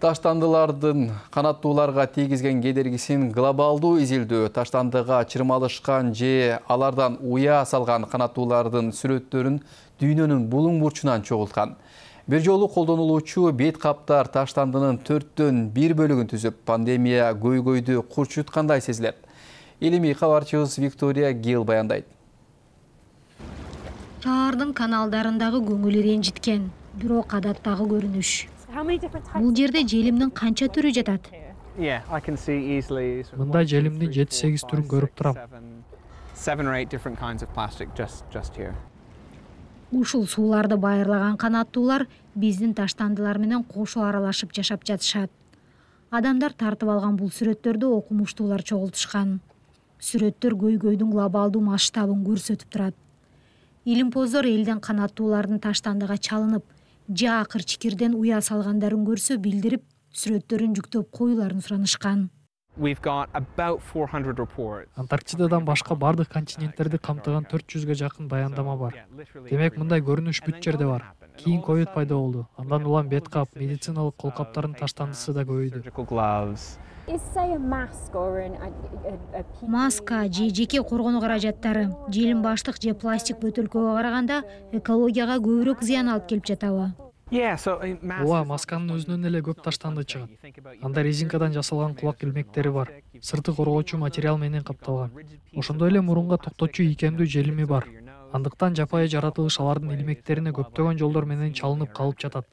Таштандылардын канаттууларга тийгизген кедергисин глобалдуу изилдөө, таштандыга чырмалышкан же алардан уя салган канаттуулардын сүрөттөрүн дүйнөнүн булуң бурчунан чогулткан. Бир жолу колдонулуучу бет каптар таштандынын 1/4 бөлүгүн түзүп, пандемия көйгөйдү курчуткандай сезилет. Илимий кабарчыбыз Виктория Гил баяндайт. Шаардын каналдарындагы көңүл ренжиткен, бирок адаттагы көрүнүш. Бул жерде желимдин канча түрү жатат? Мында желимдин 7-8 түрүн көрүп турам. Ушул сууларды байырлаган канаттуулар биздин таштандылар менен кошо аралашып жашап жатышат. Адамдар тартып алган бул сүрөттөрдү окумуштуулар чогултушкан. Сүрөттөр көйгөйдүн глобалдуу масштабын көрсөтүп турат. Илимпоздор элден канаттуулардын таштандыга чалынып, же акыр чикирден уя салгандарын көрсө билдирип, сүрөттөрүн жүктөп коюларын суранышкан. Антарктидадан башка бардык континенттерди камтыган 400га жакын баяндама бар. Демек, мындай көрүнүш бүт жерде бар. Кийин ковид пайда болду. Андан улам бет кап, медициналык кол каптардын таштандысы да көбөйдү. Маска же жеке коргонуу каражаттары, желим баштык же пластик бөтөлкөгө караганда экологияга көбүрөөк зыян алып келип жатабы? Ооба, масканын өзүнөн эле көп таштанды чыгат. Анда резинкадан жасалган кулак илмектери бар. Сырты коргоочу материал менен капталган. Ошондой эле мурунга токтотчу ийкемдүү желими бар. Андыктан жапайы жаратылыш алардын илмектерине көптөгөн жолдор менен чалынып калып жатат.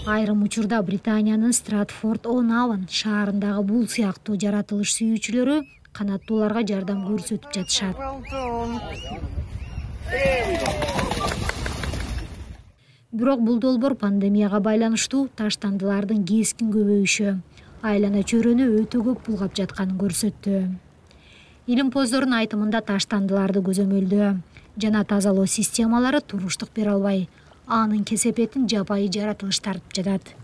Айрым учурда Британиянын Стратфорд-он-Авон шаарындагы бул сыяктуу жаратылыш сүйүүчүлөрү канаттууларга жардам көрсөтүп жатышат. Бирок бул долбоор пандемияга байланыштуу таштандылардын кескин көбөйүшү, айлана чөйрөнү өтө көп булгап жатканын көрсөттү. Илимпоздордун айтымында таштандыларды көзөмөлдөө жана тазалоо системалары туруштук бере албай, анын кесепетин жапайы жаратылыш тартып жатат.